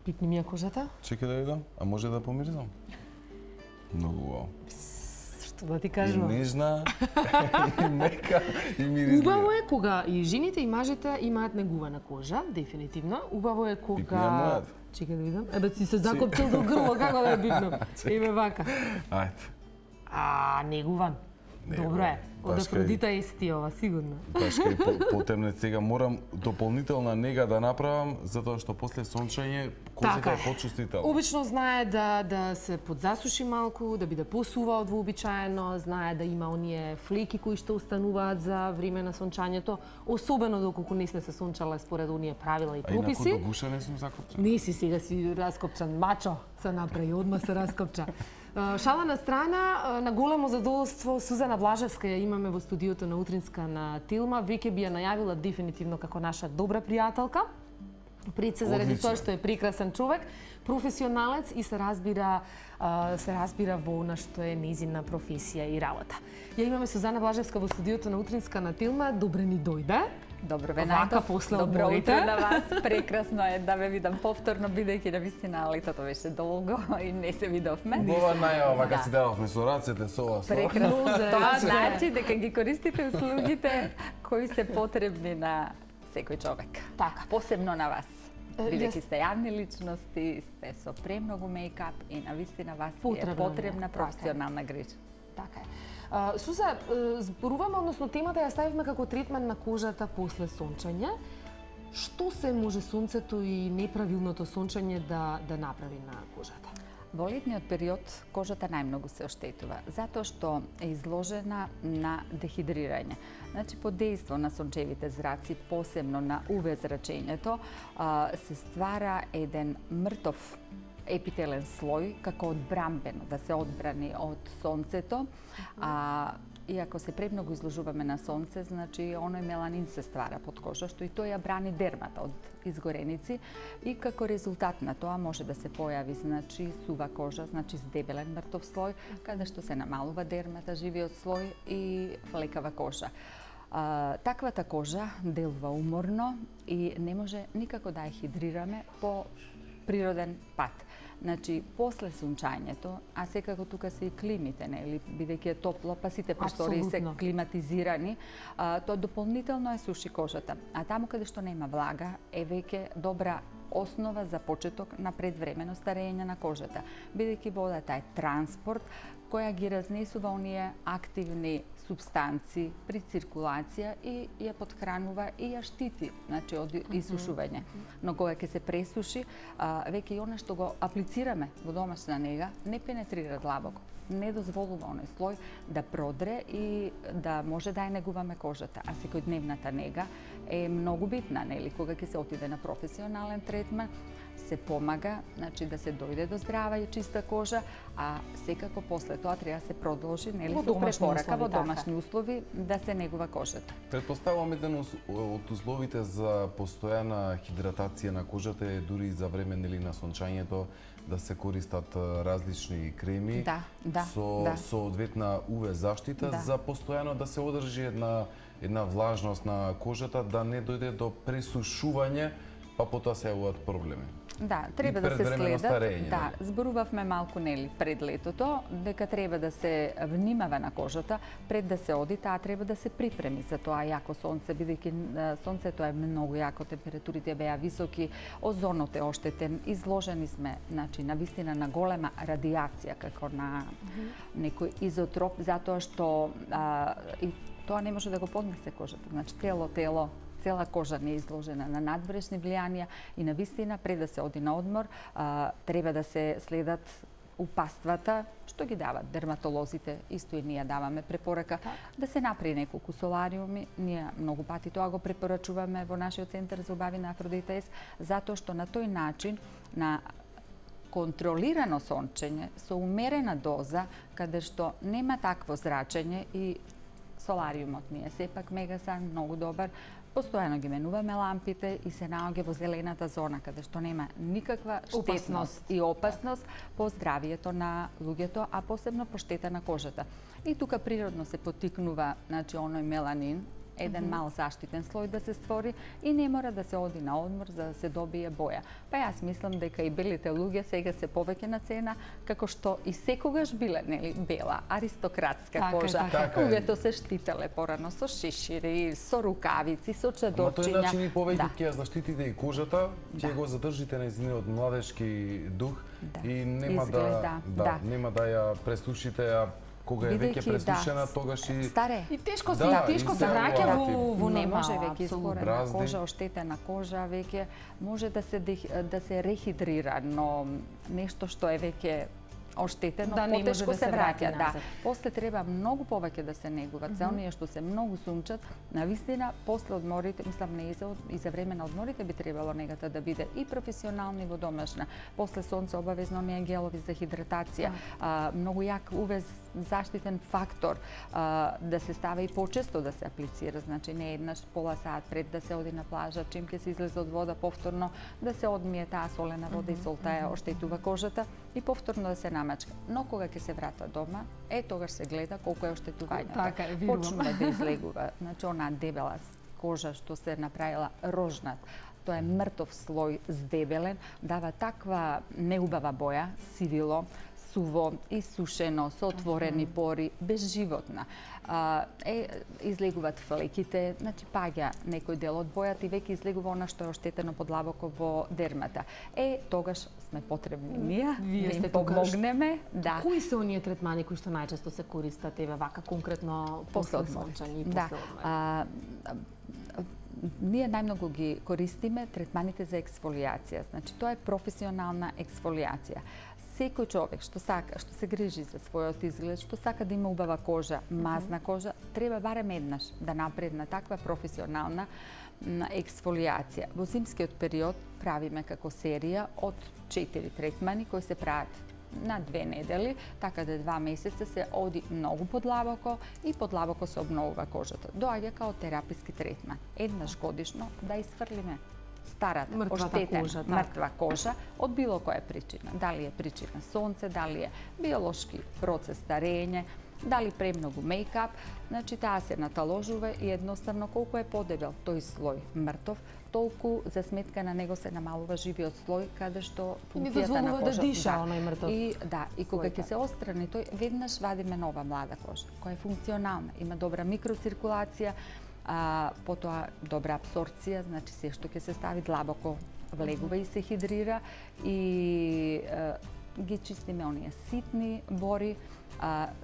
Пипни ми ја кожата. Чекај да видам, а може да помиризам? Многу убаво. Што да ти И кажам? нежна, и мека, и миризлива. Убаво е кога и жените и мажите имаат негувана кожа, дефинитивно. Убаво е Пипни ја кога... мојат. Чекај да видам. Ебе си се закопчил до грло, како да ја пипнам? Еме вака. Ајде. Негуван. Добро е. Од Баш кај- Афродита Ести ова, сигурно. Баш кај потемне сега морам дополнителна нега да направам, затоа што после сончање кожата Така е е. почувствителна. Обично знае да се подзасуши малку, да биде посува од вообичаено, знае да има оние флеки кои што остануваат за време на сончањето, особено доколку не сме се сончале според оние правила и А инаку прописи. до гуша не сум закопчен. Не си сега си раскопчан, мачо се направи, одма се раскопча. Шала на страна, на големо задоволство Сузана Блажевска ја имаме во студиото на Утринска на Тилма. Веќе би ја најавила дефинитивно како наша добра пријателка. Пред се заради Одлично. тоа што е прекрасен човек, професионалец и се разбира во она што е незина професија и работа. Ја имаме Сузана Блажевска во студиото на Утринска на Тилма. Добре ни дојде. Добро ве Вака најдов. после Добро одморите. утро на вас. Прекрасно е да ве видам повторно, бидејќи навистина летото беше долго и не се видовме. Ова најава, вака Да. си дававме со рацете, со ова, со ова. Прекрасно. Нозе, Тоа раче. значи дека ги користите услугите кои се потребни на секој човек. Така. Посебно на вас. Бидејќи јас- сте јавни личности, сте со премногу мејкап и навистина вас ви е Потребна потребна ми е, така е. професионална грижа. Така е. Суза, зборуваме, односно темата ја ставивме како третман на кожата после сончање. Што се може сонцето и неправилното сончање да направи на кожата? Во летниот период кожата најмногу се оштетува, затоа што е изложена на дехидрирање. Значи, под дејство на сончевите зраци, посебно на УВ зрачењето, се ствара еден мртов епителен слој како одбрамбено, да се одбрани од сонцето, и ако се премногу изложуваме на сонце, значи оној меланин се ствара под кожа, што и тој ја брани дермата од изгореници и како резултат на тоа може да се појави значи сува кожа, значи здебелен мртов слој, каде што се намалува дермата, живиот слој и флекава кожа. Таквата кожа делува уморно и не може никако да ја хидрираме по природен пат. Значи, после сончањето, а секако тука се и климите, нели, бидејќи е топло, па сите простори се Апсолутно. климатизирани, тоа дополнително е суши кожата. А таму каде што нема влага, е веќе добра основа за почеток на предвремено старење на кожата, бидејќи водата е транспорт која ги разнесува оние активни субстанци при циркулација и ја подхранува и ја штити, значи од исушување. Но кога ќе се пресуши, веќе и она што го аплицираме во домашна нега не пенетрира длабоко, не дозволува оној слој да продре и да може да ја негуваме кожата. А секојдневната нега е многу битна, нели, кога ќе се отиде на професионален третман, се помага, значи да се дојде до здрава и чиста кожа, а секако после тоа треба да се продолжи, нели, Во со домашни препорака во услови, така. домашни услови да се негува кожата. Предпоставувам еден од условите за постојана хидратација на кожата е дури и за време нели на сончањето да се користат различни креми Да, да, со да. соодветна УВ заштита Да. за постојано да се одржи една влажност на кожата, да не дојде до пресушување, па потоа се јавуваат проблеми. Да, треба И да се предвремено следат. старење, Да, нели? зборувавме малку нели пред летото дека треба да се внимава на кожата пред да се оди, таа треба да се припреми за тоа јако сонце, бидејќи сонцето е многу јако, температурите беа високи, озонот е оштетен, изложени сме, значи навистина на голема радиација како на некој изотроп, затоа што и тоа не може да го поднесе кожата. Значи цела кожа не е изложена на надврешни влијанија и навистина пред да се оди на одмор треба да се следат упаствата што ги дават дерматолозите, исто и ние даваме препорака да се направи неколку солариуми. Ние многу пати тоа го препорачуваме во нашиот центар за убави на Афродита, затоа што на тој начин на контролирано сончење со умерена доза, каде што нема такво зрачење и солариумот ми е сепак мегасан, многу добар. Постојано ги менуваме лампите и се наоѓа во зелената зона, каде што нема никаква штетност и опасност по здравието на луѓето, а посебно по штета на кожата. И тука природно се поттикнува, значи, оној меланин, еден мал заштитен слој да се створи и не мора да се оди на одмор за да се добие боја. Па јас мислам дека и белите луѓе сега се повеќе на цена, како што и секогаш биле, нели, бела, аристократска кожа. Луѓето се штителе порано со шишири, со рукавици, со чадорчиња. Ама тој начин и повеќе ќе ја заштитите и кожата, ќе го задржите нејзиниот младешки дух и нема нема да ја пресушите, а кога е веќе пресушена, тогаш и старе. И тешко се враќа во не нема може веќе изгорена кожа, оштетена кожа, веќе може да се рехидрира, но нешто што е веќе оштетено, потешко се враќа, да. После треба многу повеќе да се негуваат. За оние што се многу сунчат, навистина после одморите, мислам не и за време на одморите би требало негата да биде и професионална и водомашна. После сонце обавезно оние гелови за хидратација, многу јак UV заштитен фактор, да се става и почесто да се аплицира, значи не еднаш пола сат пред да се оди на плажа, чим ќе се излезе од вода повторно да се одмие таа солена вода и солта ја оштетува кожата и повторно да се намачка. Но кога ќе се врата дома, тогаш се гледа колку е оштетувањето. Почнува да излегува, значи онаа дебела кожа што се направила рожнат. Тоа е мртов слој здебелен, дава таква неубава боја, сивило, суво, исушено, со отворени пори, безживотна. Излегуваат флеките, значи паѓа некој дел од бојата и веќе излегува она што е оштетено подлабоко во дермата. Тогаш сме потребни ние да им помогнеме. Кои се оние третмани кои што најчесто се користат вака конкретно после сончање и после одмор? Ние најмногу ги користиме третманите за ексфолијација. Значи тоа е професионална ексфолијација. Секој човек што се грижи за својот изглед, што сака да има убава кожа, мазна кожа, треба барем еднаш да напредна таква професионална ексфолијација. Во зимскиот период правиме како серија од 4 третмани кои се прават на 2 недели, така да 2 месеца се оди многу подлабоко и подлабоко се обновува кожата. Доаѓа као тераписки третман. Еднаш годишно да изфрлиме старата, оштетена, мртва кожа од било која причина. Дали е причина сонце, дали е биолошки процес старење, дали премногу мејкап, значи таа се наталожува и едноставно колку е подебел тој слој мртов, толку за сметка на него се намалува живиот слој каде што функцијата на кожата да диша оној мртов. И кога ќе се острани тој, веднаш вадиме нова млада кожа, која е функционална, има добра микроциркулација, потоа добра абсорбција, значи се што ќе се стави длабоко влегува и се хидрира и ги чистиме оние ситни бори,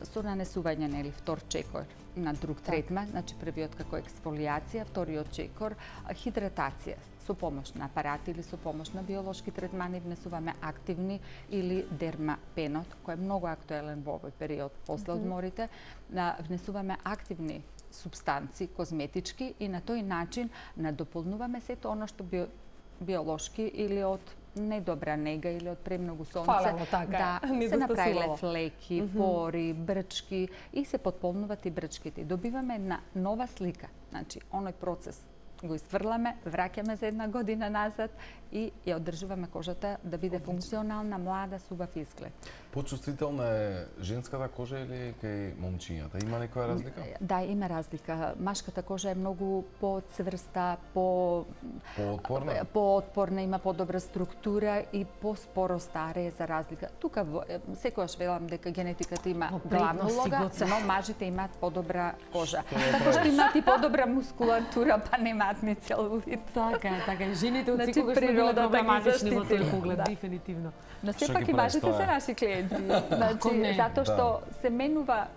со нанесување, нели, втор чекор на друг третман, значи првиот како ексфолијација, вториот чекор, хидратација со помош на апарати или со помош на биолошки третмани внесуваме активни или дермапенот, кој е многу актуелен во овој период после одморите, внесуваме активни субстанци козметички и на тој начин надополнуваме сето оно што биолошки или од недобра нега или од премногу сонце, да се направиле флеки, пори, брчки и се потполнуваат и брчките. Добиваме една нова слика, значи оној процес го изфрламе, враќаме за 1 година назад и ја одржуваме кожата да биде функционална, млада, с убав изглед. Почувствителна е женската кожа или кај момчињата? Има некоја разлика? Да, има разлика. Машката кожа е многу поцврста, поотпорна, има подобра структура и поспоро старее за разлика. Тука секогаш велам дека генетиката има главна улога, но мажите имаат подобра кожа. Така што имаат и подобра мускулатура, па немаат ни целулит. Така, и жените од секогаш не биле проблематични во тој поглед, дефинитивно. Но сепак и мажите се наши клиенти. Значи, затоа што се менува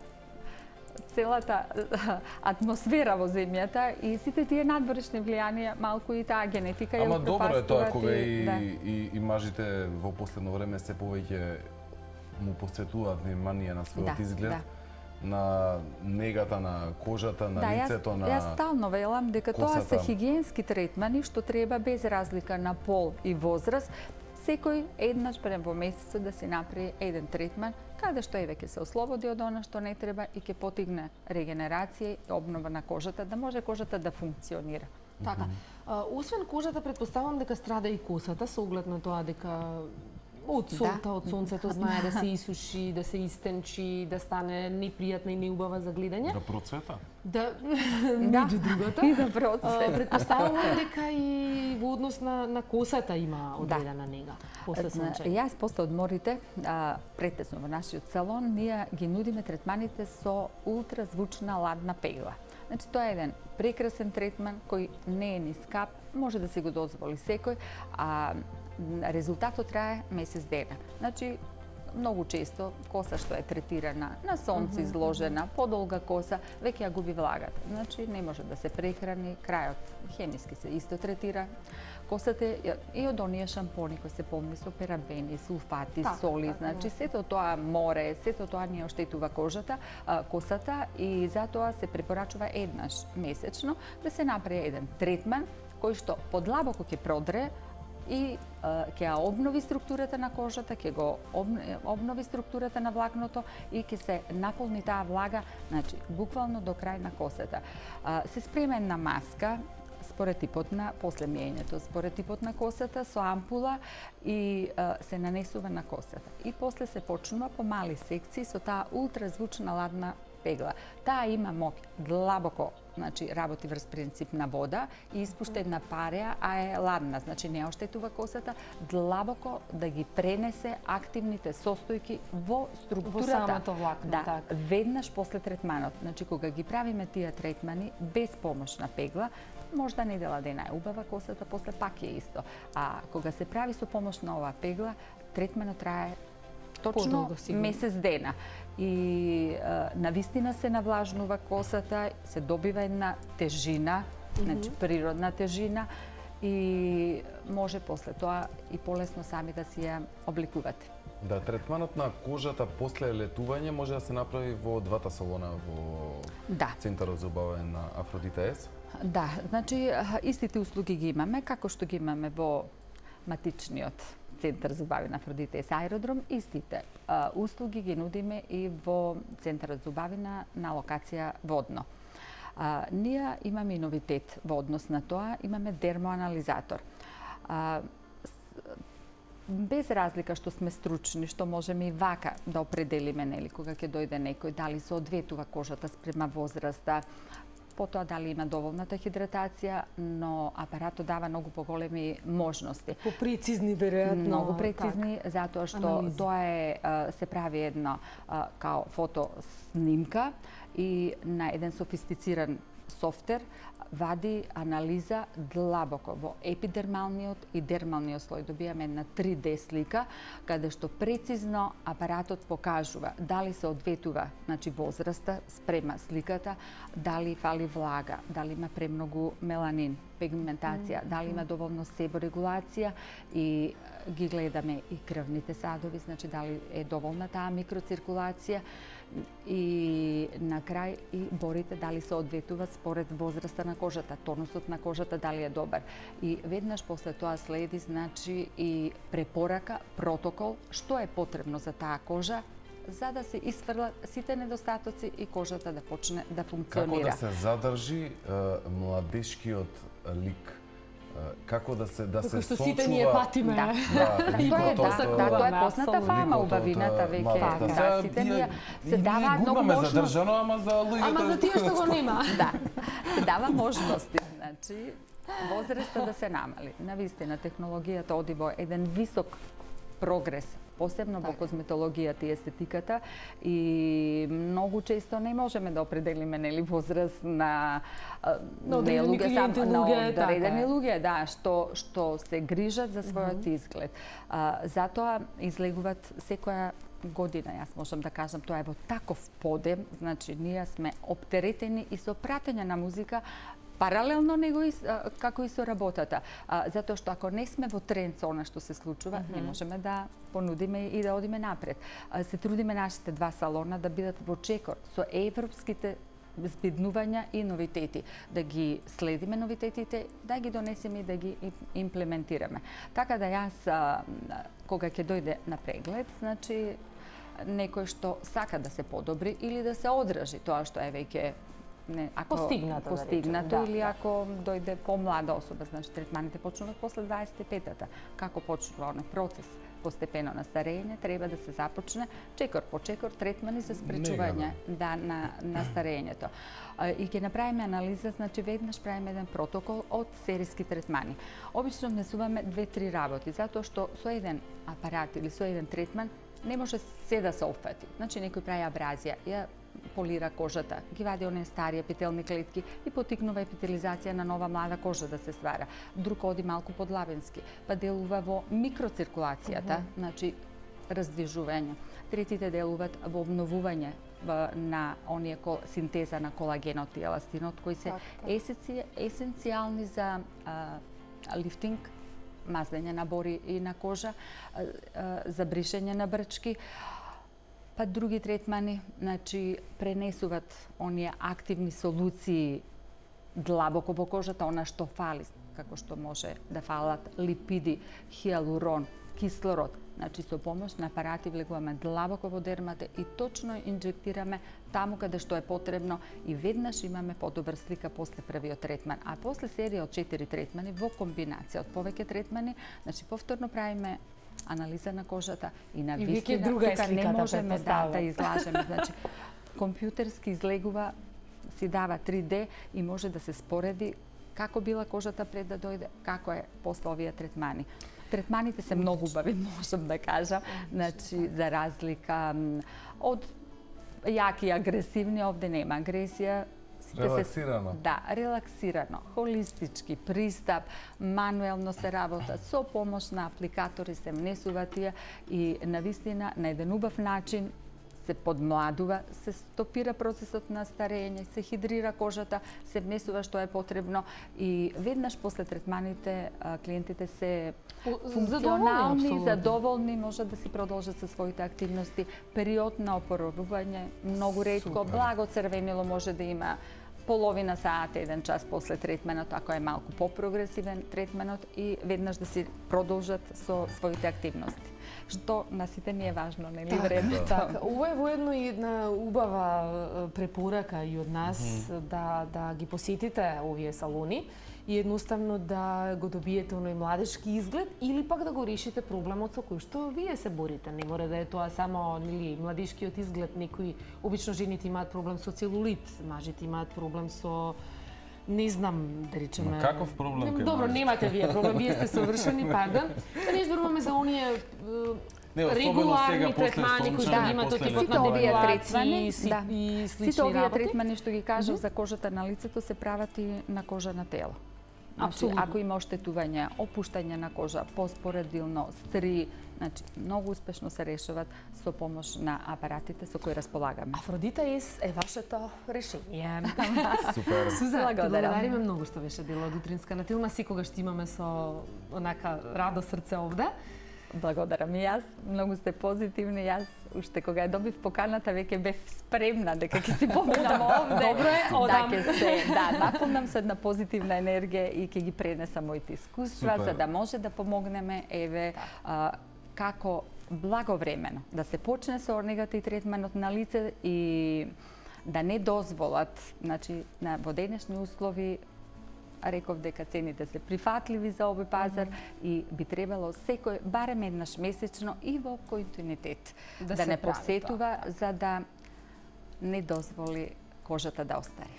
целата атмосфера во земјата и сите тие надворешни влијанија, малку и таа генетика ја упропастуваат. Ама добро е тоа кога и мажите во последно време се повеќе му посветуваат внимание на својот изглед. На негата на кожата, на лицето, на Јас стално велам дека тоа се хигиенски третмани што треба без разлика на пол и возраст, секој еднаш барем во месецот да се направи еден третман, каде што веќе се ослободи од она што не треба и ќе потигне регенерација и обнова на кожата, да може кожата да функционира. Така. Освен кожата, претпоставам дека страда и косата, со оглед на тоа дека Од солта, од сонцето, знае да се исуши, да се истенчи, да стане непријатна и неубава за гледање. Да процвета? Да, меѓу другото. И да процвета. Предпоставувам дека и во однос на косата има одредена нега после сончење. Јас после одморите, претесно во нашиот салон, ние ги нудиме третманите со ултразвучна ладна пегла. Значи, тоа е еден прекрасен третман кој не е ни скап, може да си го дозволи секој, а резултатот трае месец дена. Значи, многу често коса што е третирана на сонце изложена, подолга коса, веќе ја губи влагата. Значи, не може да се прехрани, крајот хемиски се исто третира. Косата и од оние шампони кои се полни со парабени, сулфати, соли, значи сето тоа море, сето тоа ни оштетува косата и затоа се препорачува еднаш месечно да се направи еден третман кој што подлабоко ќе продре и ќе ја обнови структурата на кожата, ќе го обнови структурата на влакното и ќе се наполни таа влага, значи буквално до крај на косата. Се спреме една маска според типот на после миењето, според типот на косата со ампула и се нанесува на косата. И после се почнува по мали секции со таа ултразвучна ладна пегла. Таа има моќ длабоко, значи работи врз принцип на вода и испушта една пареа, а е ладна, значи не оштетува косата, длабоко да ги пренесе активните состојки во структурата. Во самото влакно, да, веднаш после третманот. Значи кога ги правиме тие третмани без помош на пегла, можда недела дена е убава косата, после пак е исто. А кога се прави со помош на оваа пегла, третманот трае точно месец дена. И навистина се навлажнува косата, се добива една тежина, значи природна тежина и може после тоа и полесно сами да си ја обликувате. Да, третманот на кожата после летување може да се направи во двата салона во Центарот за убавање на Афродита С? Да, значи истите услуги ги имаме, како што ги имаме во матичниот Центар за убавање на Афродита С аеродром, истите услуги ги нудиме и во Центарот за убавање на локација Водно. Ние имаме и новитет во однос на тоа, имаме дермоанализатор. Без разлика што сме стручни, што можеме и вака да определиме, нели, кога ќе дојде некој, дали се одветува кожата спрема возраста, потоа дали има доволната хидратација, но апаратот дава многу поголеми можности. Попрецизни, веројатно. Многу прецизни, затоа што тоа се прави една као фотоснимка и на еден софистициран софтвер вади анализа длабоко во епидермалниот и дермалниот слој. Добиваме една 3D слика, каде што прецизно апаратот покажува дали се одветува, значи возраста спрема сликата, дали фали влага, дали има премногу меланин, пигментација, дали има доволно себорегулација и ги гледаме и крвните садови, значи дали е доволна таа микроциркулација и на крај и борите дали се одветува според возраста на кожата, тонусот на кожата дали е добар. И веднаш после тоа следи значи и препорака, протокол, што е потребно за таа кожа за да се исфрлат сите недостатоци и кожата да почне да функционира. Како да се задржи младешкиот лик? Како да се сочува... што сите ние патиме. Тоа е позната фама убавината веќе. Сите ние се даваат многу можности. Задржано, ама за луѓето... Ама за тие што го нема. Да, се дава можности. Значи, возраста да се намали. Навистина, технологијата оди во еден висок прогрес, посебно во козметологијата и естетиката и многу често не можеме да определиме нели возраст на одредени луѓе, да, што се грижат за својот изглед. Затоа излегуваат секоја година, јас можам да кажам, тоа е во таков подем, значи ние сме оптеретени и со пратење на музика паралелно него како и со работата. Затоа што ако не сме во тренд со она што се случува, не можеме да понудиме и да одиме напред. Се трудиме нашите два салона да бидат во чекор со европските збиднувања и новитети, да ги следиме новитетите, да ги донесеме и да ги имплементираме. Така да јас кога ќе дојде на преглед, значи некој што сака да се подобри или да се одржи тоа што е веќе постигнато или ако дојде помлада особа, значи третманите почнуваат после 25-та. Како почнува оној процес? постепено на старење, треба да се започне чекор по чекор третмани за спречување на старењето. И ќе направиме анализа, значи веднаш правиме еден протокол од сериски третмани. Обично внесуваме 2-3 работи, затоа што со еден апарат или со еден третман не може се да се опфати. Значи некој прави абразија, ја полира кожата, ги вади оние стари епителни клетки и потикнува епителизација на нова млада кожа да се ствара. Друг оди малку подлабенски, па делува во микроциркулацијата, значи раздвижување. Третите делуваат во обновување на оние синтеза на колагенот и еластинот, кои се есенцијални за лифтинг, мазнење на бори и на кожа, за бришење на брчки. Па други третмани, значи, пренесуваат оние активни солуции длабоко во кожата, она што фали, како што може да фалат липиди, хиалурон, кислород. Значи, со помош на апарати влегуваме длабоко во дермата и точно инжектираме таму каде што е потребно и веднаш имаме подобра слика после првиот третман. А после серија од 4 третмани во комбинација од повеќе третмани, значи повторно правиме анализа на кожата и на вистина, тука не можеме да излажеме. Значи, компјутерски излегува, си дава 3D и може да се спореди како била кожата пред да дојде, како е после овие третмани. Третманите се многу убави, можам да кажам, значи, за разлика од јаки и агресивни, овде нема агресија. Релаксирано. Да, релаксирано, холистички пристап, мануелно се работа, со помош на апликатори се внесува тие и навистина на еден убав начин се подмладува, се стопира процесот на старење, се хидрира кожата, се внесува што е потребно и веднаш после третманите клиентите се функционални, задоволни, можат да си продолжат со своите активности. Период на опоровување, многу ретко, благо црвенило може да има половина саат, 1 час после третменот, ако е малку попрогресивен третменот и веднаш да си продолжат со своите активности. Што на сите ни е важно, нели вредно. Така, ова е воедно и една убава препорака и од нас да ги посетите овие салони и едноставно да го добиете оној младешки изглед или пак да го решите проблемот со кој што вие се борите. Не мора да е тоа само младишкиот изглед, некои обично жените имаат проблем со целулит, мажите имаат проблем со не знам, да речеме... Каков проблем кај Добро, немате вие проблем, вие сте совршени, пардон. Да не изборуваме за оние регуларни третмани кои што ги имате од типот на депилации и слични работи. Сите овие третмани што ги кажав за кожата на лицето се прават и на кожа на тело. Апсолутно. Ако има оштетување, опуштање на кожа, поспоредилно, стри, значи многу успешно се решават со помош на апаратите со кои располагаме. Афродита е вашето решение. Супер. Суза, благодариме многу што беше дел од утринска на Тилма, секогаш ќе имаме со онака радо срце овде. Благодарам и јас, многу сте позитивни, јас уште кога ја добив поканата веќе бев спремна дека ќе си поминам овде. Добро е, одам. Наполнам се една позитивна енергија и ќе ги пренесам моите искуства за да може да помогнеме како благовремено да се почне со орнегата и третманот на лице и да не дозволат, значи во денешни услови реков дека цените се прифатливи за овој пазар и би требало секој барем еднаш месечно и во континуитет да не посетува за да не дозволи кожата да остари.